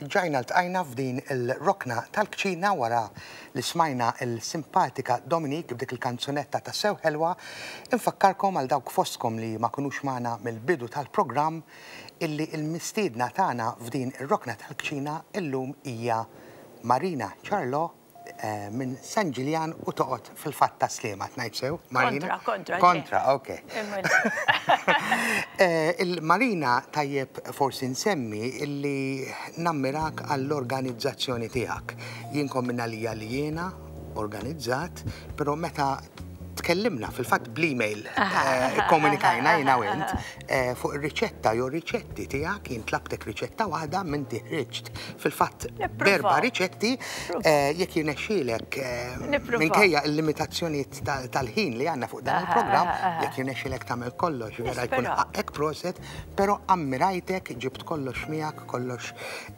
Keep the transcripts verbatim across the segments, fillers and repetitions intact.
Erġajna ltqajna f'din il-rokna tal-kċina wara li smajna il-simpatika Dominique b'dik il-kanzunetta ta' sew ħelwa. Infakkarkom għal dawk fostkom li ma kinux magħna mill-bidu tal-programm illi il-mistiedna tagħna f'din ir-rokna tal-kċina illum hija Marina Ciarlò eh, minn San Ġiljan u toqgħod fil-fatt ta' Sliema, ngħid sew, Marina? Kontra, kontra. Kontra, ok. Eh, Il-Marina tajjeb forsi nsemmi illi nammirak għall-organizzazzjoni tiegħek. Jien minna li li jiena organizzat, però meta tkellimna fil-fatt bl-email, eh, komunikajna jiena u int eh, fuq ir-riċetta jew riċetti tiegħek, jien tlabtek riċetta waħda minn ħriġt fil-fatt Nippruvaw. berba riċetti eh, jekk jirnexxielek eh, Nippruvaw. minkejja il-limitazzjonijiet tal- tal-ħin li għandna fuq dan Aha, il-programm, aha, aha. jekk jirnexxielek tagħmel kollox, vera jkun Nisperaw. ħaqqek proset, però ammirajtek, ġibt kollox miegħek, kollox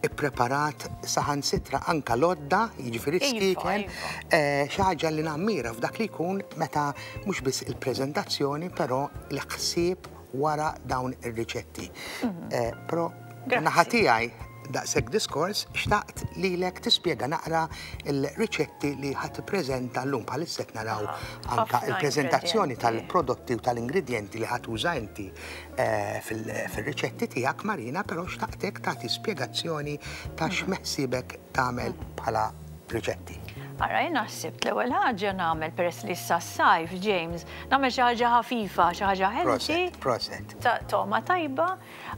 ippreparat, saħansitra anka lodda, jiġifieri Iva, skieken, iva. eh, xi ħaġa li nammira f'dak li jkun meta mhux biss il-preżentazzjoni, però l-ħsieb wara dawn ir-riċetti. Eh, Però Grazzi. naħa tiegħi daqshekk diskors, xtaqt lilek tispjega naqra il-riċetti li ħa tippreżenta llum. Bħalissa qed naraw anka ħafna il-preżentazzjoni ingredienti. tal-prodotti u tal-ingredienti li ħa tuża inti eh, fil- fil-riċetti tiegħek, Marina, però xtaqtek tagħti spjegazzjoni ta' x'meħsibek tagħmel bħala riċetti. Ara, jena ħsibt l-ewwel ħaġa nagħmel, peress li issa sajf, James, nagħmel xi ħaġa ħafifa, xi ħaġa healthy, Proset, proset. ta' toma tajba,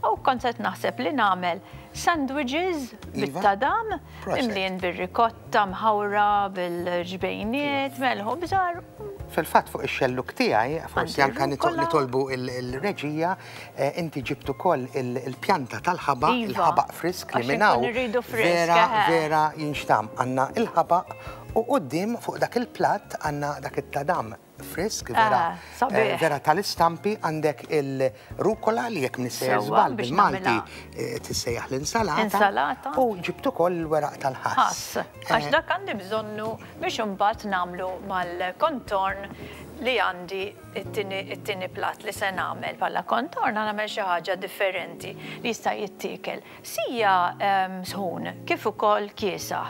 u kont qed naħseb li nagħmel sandwiches Iva. bit-tadam, Proset. mimlin bir-rikotta mħawra, bil-ġbejniet, melħu bżar. Fil-fatt fuq ix-xelluk tiegħi, forsi Għandi anka nito- rucola. nitolbu il- il-reġija, eh, inti ġibt ukoll il- il-pjanta tal-ħabaq, Iva. il-ħabaq frisk li Għax minn hawn inkun irridu frisk, vera eħe. vera jinxtam. Għandna il-ħabaq u quddiem fuq dak il-platt għandna dak it-tadam frisk, vera, Ah, sabiħ. eh, vera tal-istampi, għandek il-rukola li jekk m'iniex sejjer Sewwa, żball biex bil-Malti nagħmilha. eh, tissejjaħ l-insalata. Insalata. U ġibt ukoll il-weraq tal-ħass. Ħass. Għax Eh, dak għandi bżonnu biex imbagħad nagħmlu mal-kontorn li għandi it-tieni it-tieni plat li se nagħmel. Bħala kontorn nagħmel xi ħaġa differenti li jista' jittiekel sija em, sħun kif ukoll kiesaħ.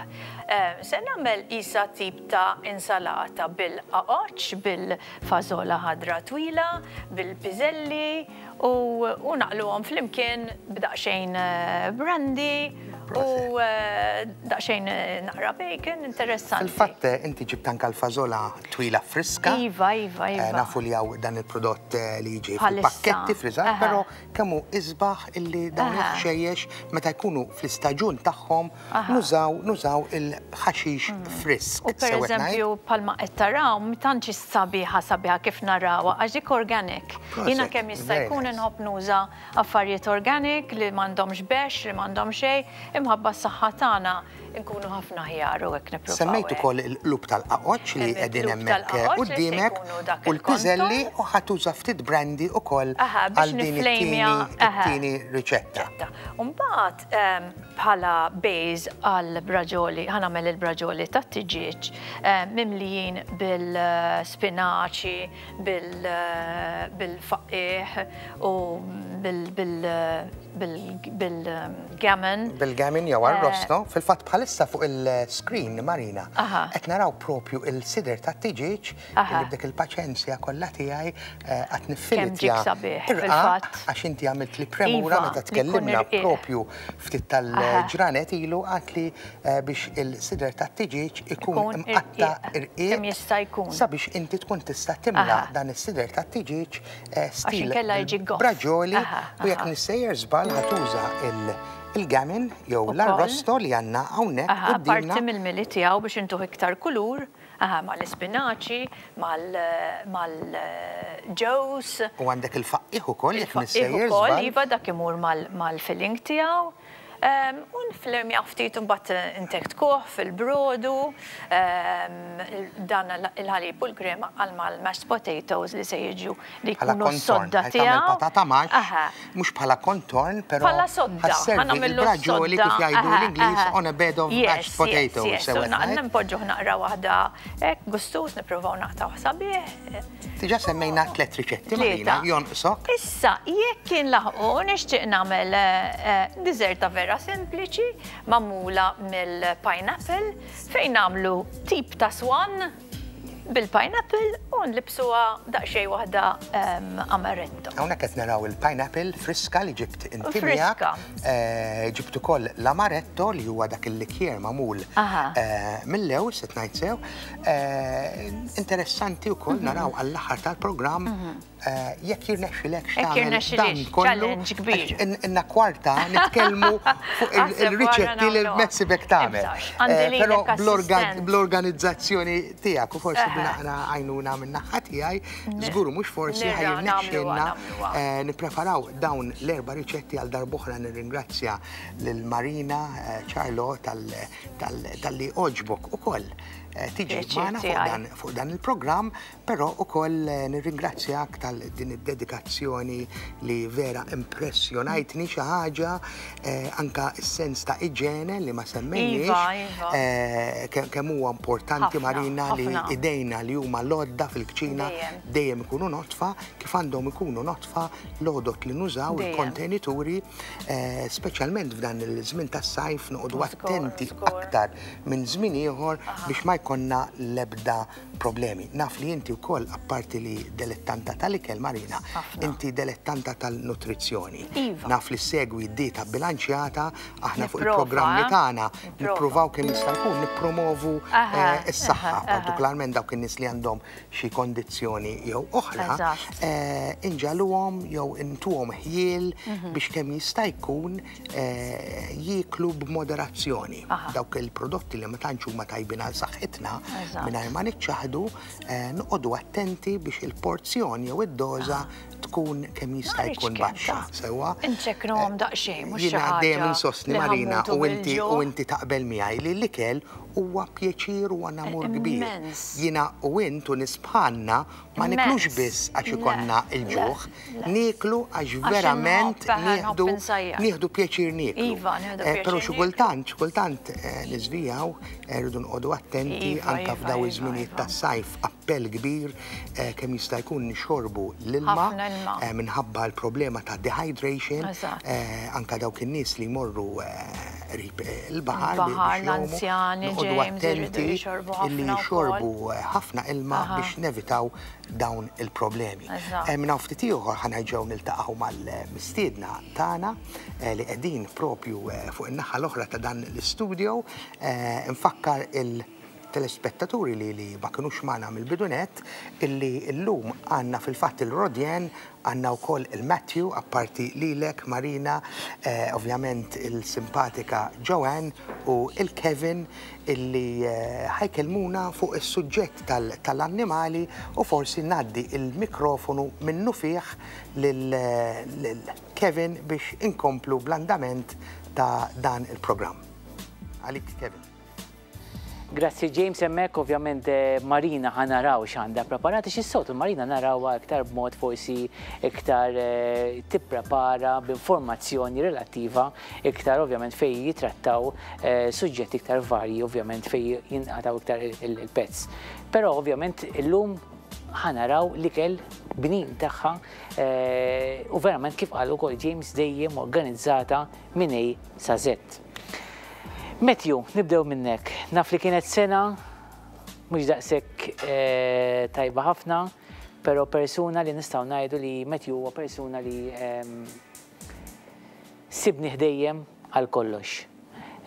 Em, Se nagħmel isa tip ta' insalata bil-qaqoċ, bil-fażola ħadra twila, bil-piżelli u, u naqluhom flimkien b'daqsxejn eh, brandy u eh, daqsxejn eh, naqra bacon, interessanti. Fil-fatt eh, inti ġibt anka l-fażola twila friska. Iva, iva, Eh, iva. Nafu li hawn dan il-prodott eh, li jiġi Bħalissa. fil-pakketti friżat, Aha. però kemm hu isbaħ illi dawn Aha. il-ħxejjex meta jkunu fl-istaġun tagħhom Aha. nużaw nużaw il-ħaxix frisk. U per Sew qed ngħid? eżempju, bħalma qed taraw, tantx sabiħa sabiħa kif narawha, għax dik organic. Jiena Proset, kemm jista' very jkun nice. inħobb nuża affarijiet organic li m'għandhomx bex, li m'għandhom xejn, imħabba s-saħħa tagħna nkunu ħafna ħjar u hekk nippruvaw. Semmejt hekk. ukoll il-qlub tal-qaqoċ li Hemm qegħdin il-qlub hemmhekk tal-qaqoċ li se quddiemek jkunu dak u l-piżelli il-kontorn. u ħa tuża ftit brandy ukoll Aha, biex għal din it-tieni niflejmja, aha. it-tieni riċetta. Umbagħad em, bħala base għal braġoli, ħa nagħmel il-braġoli ta' tiġieġ mimlijin bil-spinaċi, bil-faqqiħ u bil-gammon. Bil-gammon jew arrosto, fil-fatt bħalissa fuq il-screen, Marina, Aha. qed naraw propju il-sider ta' tiġieġ Aha. li b'dik il-paċenzja kollha tiegħi eh, qed Kemm niffilitja ġik sabiħ, irqaq, fil-fatt. għax inti għamilt li premura Iva, meta li jkun tkellimna irqiq. propju ftit tal-ġranet ilu għat li eh, biex il-sider ta' tiġieġ ikun Ikun imqatta irqiq, irqiq kemm jista' jkun. sabiex inti tkun tista' timla Aha. dan is-sider ta' tiġieġ eh, stil inkella jiġi goff. braġoli Aha, u jekk aha. m'iniex sejjer żball ħa tuża il- il-gammon jew Ukoll. l-arrosto li għandna hawnhekk Aha, qudiemna. parti mill-mili tiegħu biex intuh iktar kulur, aha, mal-ispinaċi, mal-ġews. U għandek il-faqqiħ ukoll jekk Il-faqqiħ m'iniex sejjer ukoll, żball. iva, dak imur mal- mal-filling tiegħu. Um, u nflimja ftit u mbagħad intektuh fil-brodu, um, dan il-ħalib u l-krema għal mal-mashed potatoes li se jiġu li Bħala jkunu kontorn, s-sodda ħa tagħmel tiegħu. patata mash, Aha. mhux bħala kontorn, però Bħala sodda, ħa sservi ħa nagħmillu il-braġoli sodda. kif jgħidu Aha, l-Ingliż aha. on a bed of Yes, mashed potatoes. Yes, yes. sew U qed ngħid? Npoġġuh naqra waħda hekk gustus, nippruvaw naqtaw sabiħ. Diġà semmejna tliet riċetti, Marina, Tlieta. jonqsok. Issa, jekk kien laħqu, nixtieq nagħmel eh, eh, dessert vera vera sempliċi, magħmula mill-pineapple, fejn nagħmlu tip ta' swan bil-pineapple u nlibsuha daqsxejn waħda amaretto. Hawnhekk qed naraw il-pineapple friska li ġibt inti miegħek. Ġibt ukoll l-amaretto li huwa dak il-likjer magħmul mill-lewż, qed ngħid sew. Interessanti wkoll naraw għall-aħħar tal-programm jekk jirnexxilek x'tagħmel dan kollu. Inna kwarta nitkellmu fuq il-riċetti li l-messibek tagħmel. Però bl-organizzazzjoni tiegħek u forsi b'naqra għajnuna minn naħa tiegħi, żgur mhux forsi ħa jirnexxilna nippreparaw dawn l-erba' riċetti. Għal darb'oħra nirringrazzja lil Marina Charlo tal-li għoġbok ukoll tiġi magħna fuq dan il-programm, però ukoll nirringrazzjak tal din id-dedikazzjoni li vera impressjonajtni xi ħaġa, anka s-sens ta' iġene li ma semmejniex, kemm huwa importanti Marina li idejna li huma l-għodda fil-kċina dejjem ikunu notfa, kif għandhom ikunu notfa l-għodot li nużaw, il-kontenituri, speċjalment f'dan il-żmien tas-sajf noqogħdu attenti aktar minn żmien ieħor biex ma jkollna l-ebda problemi. Naf li inti wkoll, apparti li dilettanta tal-ikel Marina, inti dilettanta tal-nutrizzjoni. Naf li segwi dieta bilanċjata, aħna fuq il-programmi tagħna nippruvaw kemm jista' jkun nippromovu s-saħħa, partikolarment dawk in-nies li għandhom xi kondizzjoni jew oħra, inġaluhom jew intuhom ħjiel biex kemm jista' jkun jieklu b'moderazzjoni. Dawk il-prodotti li ma tantx huma tajbin għal saħħitna, mingħajr ma niċċaħdu, noqogħdu attenti biex il-porzjon jew id-doża tkun kemm jista' jkun baxxa. Sewwa. Inċeknuhom daqsxejn, mhux xi Jiena dejjem ħaġa insostni li Marina ħammutu u inti u bil-ġuħ. inti taqbel miegħi li l-ikel huwa pjaċir u namur kbir. Immens. Jiena u int u nies bħalna ma niklux Immens. biss għax Le, ikollna il-ġuħ, le, le. nieklu għax Għax verament inħobb, eħe, nieħdu nħobb insajjar. nieħdu pjaċir nieklu. Iva, nieħdu Eh, pjaċir Però xi nieklu. kultant, xi kultant eh, niżvijaw, eh, rridu nqogħdu attenti Iva, anke iva, f'daw iva, iż-żminijiet iva. tas-sajf, appell kbir eh, kemm jista' jkun nixorbu l-ilma Ħafna ilma. eh, minħabba l-problema ta' dehydration, Eżatt. eh, anka dawk in-nies li jmorru eh, qrib eh, il-baħar Il-baħar, biex jgħumu, l-anzjani, noqogħdu James, iridu attenti jixorbu illi ħafna wkoll. jxorbu eh, ħafna ilma Aha. biex nevitaw dawn il-problemi. Eżatt. Eh, Minn hawn ftit ieħor ħa nerġgħu niltaqgħu mal-mistiedna tagħna eh, li qegħdin propju eh, fuq in-naħa l-oħra ta' dan l-istudio. Eh, Nfakkar il- telespettaturi li li ma kinux magħna mill-bidunet illi llum għandna fil-fatt il-Rodjen, għandna wkoll il-Matthew, apparti lilek Marina, eh, ovvjament il-simpatika Joanne u il-Kevin illi eh, ħa jkellmuna fuq is-suġġett tal- tal-annimali u forsi ngħaddi il-mikrofonu minnu fih lil lil Kevin biex inkomplu bl-andament ta' dan il-programm. Għalik Kevin. Grazzi James, hemmhekk ovvjament eh, Marina ħa naraw x'għandha preparati xis-soltu Marina narawha iktar b'mod forsi iktar eh, tipprepara b'informazzjoni relattiva iktar ovvjament fej jitrattaw eh, suġġetti iktar varji ovvjament fej jinqataw iktar il- il-pezz. Però ovvjament illum ħa naraw l-ikel bnin tagħha eh, u verament kif qal ukoll James dejjem organizzata minn A sa Z. Matthew, nibdew minnek. Naf li kienet sena mhux daqshekk eh, tajba ħafna, però persuna li nistgħu ngħidu li Matthew huwa persuna li ehm, sibni dejjem għal kollox.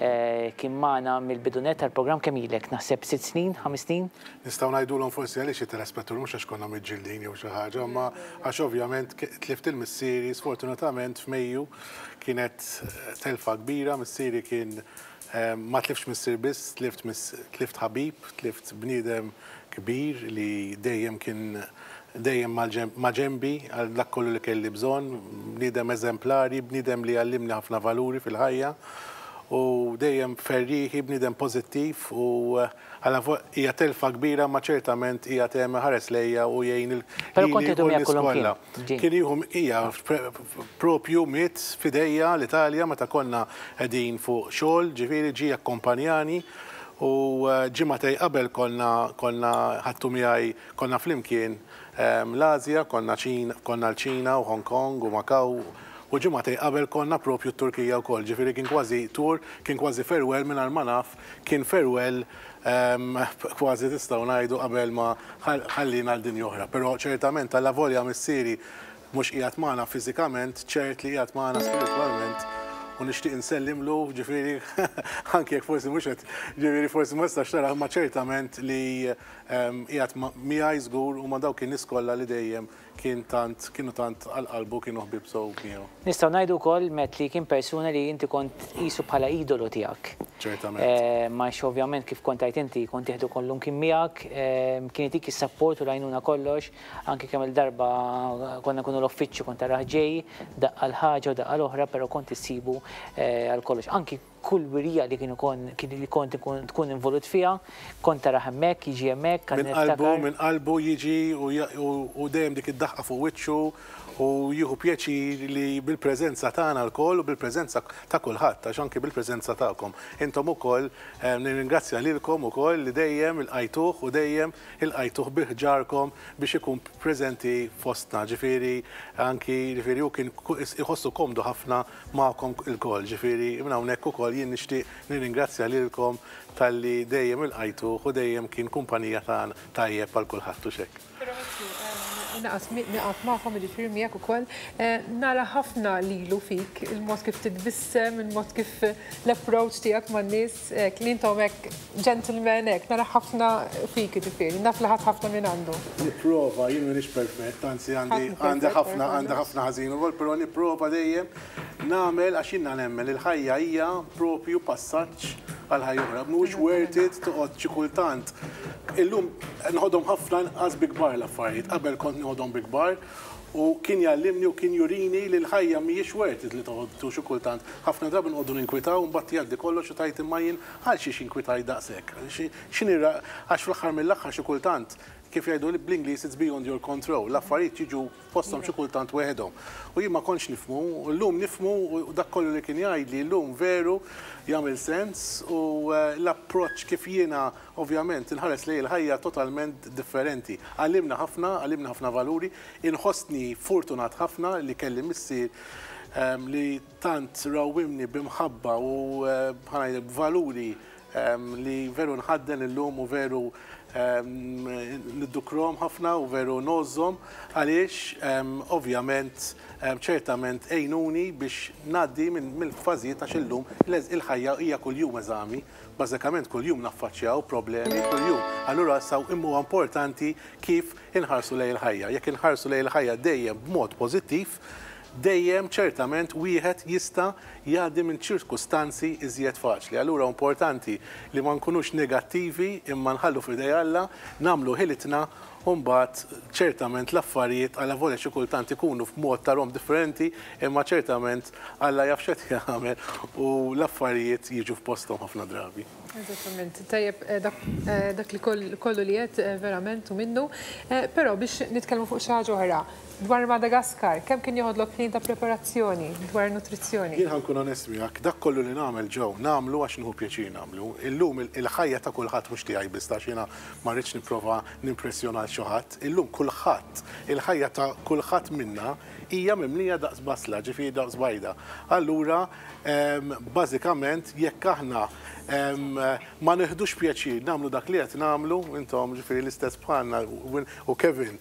Eh, Kien magħna mill-bidunet tal-programm kemm ilek, naħseb sitt snin, ħames snin? Nistgħu ngħidulhom forsi għaliex it-telespettur mhux għax konna miġġildin jew xi ħaġa, imma għax ovvjament ke- tlift il-missieri sfortunatament f'Mejju kienet eh, telfa kbira, missieri kien eh, ma tliftx missier biss, tlift miss- tlift ħabib, tlift bniedem kbir li dejjem kien dejjem ma' ġembi għal dak kollu li kelli bżonn, bniedem eżemplari, bniedem li għallimni ħafna valuri fil-ħajja u dejjem ferriħi, bniedem pożittiv u għala hija telfa kbira ma ċertament hija tema ħares lejja u jgħin il Però kont tieħdu miegħek kullum kien, Kien jieħu hija propju miet f'idejja l-Italja meta konna qegħdin fuq xogħol, ġifieri ġie akkompanjani u ġimagħtejn qabel konna konna ħadtu miegħi konna flimkien l-Asja, konna konna l-Ċina u Hong Kong u Macau u U ġimgħatejn qabel konna propju t-Turkija wkoll, ġifieri kien kważi tour, kien kważi farewell mingħajr ma naf, kien farewell kważi tistgħu ngħidu qabel ma ħallina l-dinja oħra. Però ċertament allavolja missieri mhux qiegħed magħna fiżikament, ċert li qiegħed magħna spiritwalment u nixtieq insellimlu, ġifieri anke jekk forsi mhux qed, ġifieri forsi ma nistax tara, ma ċertament li qiegħed miegħi żgur u ma' dawk in-nies kollha li dejjem kien tant kienu tant għal qalbu, kienu ħbieb sew miegħu. Nistgħu ngħidu wkoll met li kien persuna li inti kont qisu bħala idolu tiegħek. Ċertament. Ma ovvjament kif kont għidt inti kont tieħdu kollu kien miegħek, kien itik is-support u l-għajnuna kollox, anke kemm il-darba konna nkunu l-uffiċċju kont tarah ġej, daqqa l-ħaġa u daqqa l-oħra, però kont issibu għal kollox. Anki kull wirija li kienu li kont tkun involut fiha, kont tarah hemmhekk, jiġi hemmhekk. Minn qalbu, minn qalbu jiġi u dejjem dik id-daħqa fuq wiċċu u jieħu pjaċir li bil-preżenza tagħna lkoll u bil-preżenza ta' kulħadd, għax anki bil-preżenza tagħkom. Intom ukoll nirringrazzja lilkom ukoll li dejjem ilqajtuh u dejjem ilqajtuh bi ħġarkom biex ikun preżenti fostna. Ġifieri anki ġifieri hu kien iħossu komdu ħafna magħkom ilkoll. Ġifieri minn hawnhekk ukoll jien nixtieq nirringrazzja lilkom talli dejjem ilqajtuh u dejjem kien kumpanija tagħna tajjeb għal kulħadd u xek. Naqas naqaf magħkom, jiġifieri miegħek ukoll, nara ħafna lilu fik, il-mod kif titbissem, il-mod kif l-approach tiegħek man-nies, li intom hekk gentleman hekk, nara ħafna fik jiġifieri, naf li ħadd ħafna minn għandu. Nipprova, jien m'iniex perfett, anzi għandi għandi ħafna għandi ħafna ħażin ukoll, però nipprova dejjem nagħmel għax jiena nemmen il-ħajja hija propju passaġġ għal ħajja oħra. Mhuwiex worth it toqgħod xi kultant. Illum nħodhom ħafna inqas bi kbar l-affarijiet, qabel kont nħodhom bi kbar u kien jallimni u kien jurini li l-ħajja mhijiex worth it li toqgħod xi kultant. Ħafna drabi nqogħdu ninkwitaw u mbagħad jgħaddi kollox u tgħid imma jien għal xiex inkwitaj daqshekk. X'inhi għax fl-aħħar mill-aħħar xi kultant kif jgħidu li bl-Ingliż it's beyond your control, l-affarijiet jiġu fosthom xi kultant weħedhom. U jien ma kontx nifhmu, u llum nifhmu u dak kollu li kien jgħidli llum veru jagħmel sens u l-approċċ kif jiena ovvjament inħares lejn il-ħajja totalment differenti. Għallimna ħafna, għallimna ħafna valuri, inħossni fortunat ħafna li kelli missier li tant rawwimni b'imħabba u b'valuri li veru nħadden illum u veru niddukrom ħafna u veru ngħożżhom għaliex ovvjament ċertament għenuni biex ngħaddi mill-fażijiet għax illum il-ħajja hija kuljum eżami, bażikament kuljum naffaċċjaw problemi kuljum. Allura saw imma importanti kif inħarsu lejn il-ħajja. Jekk inħarsu lejn il-ħajja dejjem b'mod pożittiv, dejjem ċertament wieħed jista' jgħaddi minn ċirkustanzi iżjed faċli. Allura importanti li ma nkunux negattivi imma nħallu f'idej Alla, nagħmlu ħilitna u mbagħad ċertament l-affarijiet allavolja xi kultant ikunu f'mod tarhom differenti, imma ċertament Alla jaf x'qed jagħmel u l-affarijiet jiġu f'posthom ħafna drabi. Eżattament, tajjeb dak li kollu li qed verament u minnu, però biex nitkellmu fuq xi ħaġa oħra. Dwar Madagaskar, kemm kien joħodlok ħin ta' preparazzjoni dwar nutrizzjoni? Jien ħa nkun onest miegħek, dak kollu li nagħmel ġew, nagħmlu għax nieħu pjaċir nagħmlu. Illum il-ħajja ta' kulħadd mhux tiegħi biss għax jiena ma rridx nipprova nimpressjona xi ħadd. Illum kulħadd, il-ħajja ta' kulħadd minna hija mimlija daqs basla, ġifieri daqs bajda. Allura, bażikament jekk aħna ma neħdux pjaċir nagħmlu dak li qed nagħmlu, intom ġifieri l-istess bħalna u Kevin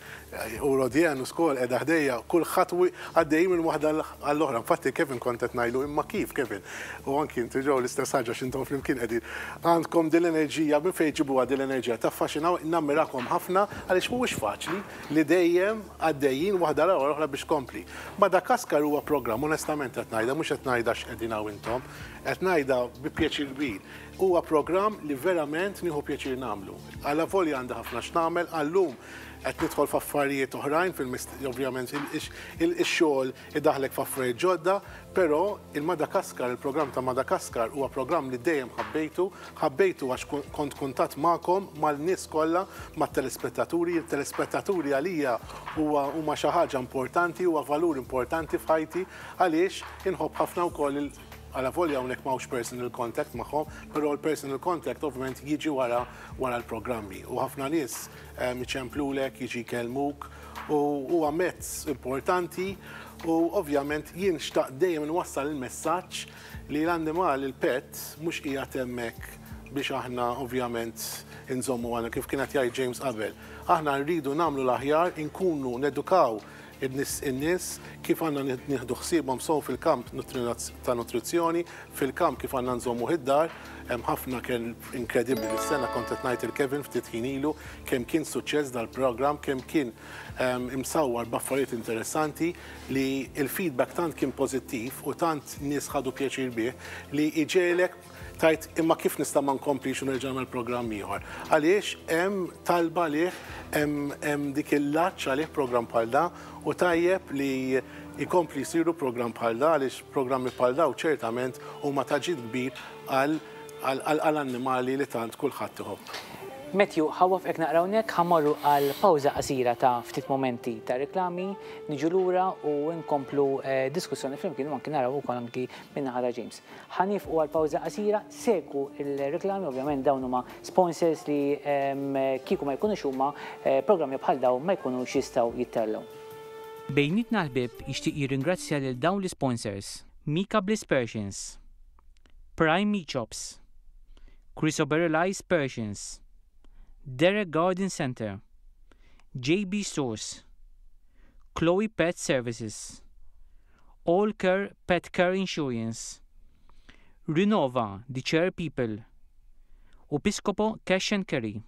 u Rodian u skol qiegħda ħdejja, kulħadd għaddej minn waħda għall-oħra. Infatti Kevin kont qed ngħidlu imma kif Kevin? U anki inti ġew l-istess ħaġa x'intom flimkien qegħdin. Għandkom din l-enerġija, minn fejn ġibuha din l-enerġija? Taffaxinaw, nammirakom ħafna għaliex mhuwiex faċli li dejjem għaddejjin waħda l-oħra biex kompli. Madagaskar huwa programm, onestament qed ngħidha, mhux qed ngħidha x'qegħdin hawn intom, qed ngħidha bi pjaċir kbir. Huwa programm li verament nieħu pjaċir nagħmlu. Allavolja għandi ħafna x'nagħmel, għallum qed nidħol f'affarijiet oħrajn, ovvjament ix-xogħol idaħlek f'affarijiet ġodda, però il-Madagaskar, il-programm ta' Madagaskar huwa programm li dejjem ħabbejtu, ħabbejtu għax kont kuntatt magħkom, mal-nies kollha, mat-telespettaturi. Il-telespettaturi għalija huma xi ħaġa importanti, huwa valur importanti f'ħajti għaliex inħobb ħafna wkoll allavolja hawnhekk m'hawnx personal contact magħhom, però l-personal contact ovvjament jiġi wara wara l-programmi. U ħafna nies iċemplulek, jiġi jkellmuk, u huwa mezz importanti U ovvjament jien xtaqt dejjem nwassal il-messaġġ li l-annimal, il-pet, mhux qiegħed hemmhekk biex aħna ovvjament inżommu għana, kif kienet jgħid James qabel. Aħna rridu nagħmlu l-aħjar, inkunu nedukaw in-nies kif għandna nieħdu ħsiebhom sew fil-kamp ta' nutrizzjoni, fil-kamp kif għandna nżommu id-dar. Hemm ħafna kien inkredibbli l-sena, kont qed ngħid lil Kevin ftit ħin ilu kemm kien suċċess dal-programm, kemm kien imsawwar b'affarijiet interessanti, li il-feedback tant kien pożittiv u tant nies ħadu pjaċir bih li iġegħlek tgħid, "Imma kif nista' ma nkomplix u nerġa' nagħmel programm ieħor?" Għaliex hemm talba għalih, hemm dik il-laċċ għalih programm bħal da, u tajjeb li jkompli jsiru programm bħal da, għaliex programmi bħal da u ċertament huma ta' ġid kbir għall-annimali li tant kulħadd iħobb. Matthew, ħa nwaqqfek naqra hawnhekk, ħa mmorru għal pawża qasira ta' ftit momenti ta' reklami, niġu lura u nkomplu eh, diskussjoni flimkien u anki naraw ukoll anki min-naħa ta' James. Ħa nieqfu għal pawża qasira, segwu il-reklami, ovvjament dawn huma sponsors li kieku ma jkunux huma, eh, programmi bħal dawn ma jkunux jistgħu jittellgħu. Bejnietna l-Ħbieb jixtieq jirringrazzja lil dawn l-sponsors: Mika Bliss Persians, Prime Meat Shops, Chrysoberyl Persians, Derek Garden Center, J B Source, Chloe Pet Services, All Care Pet Care Insurance, Renova The Chair People, u Piscopo Cash and Carry.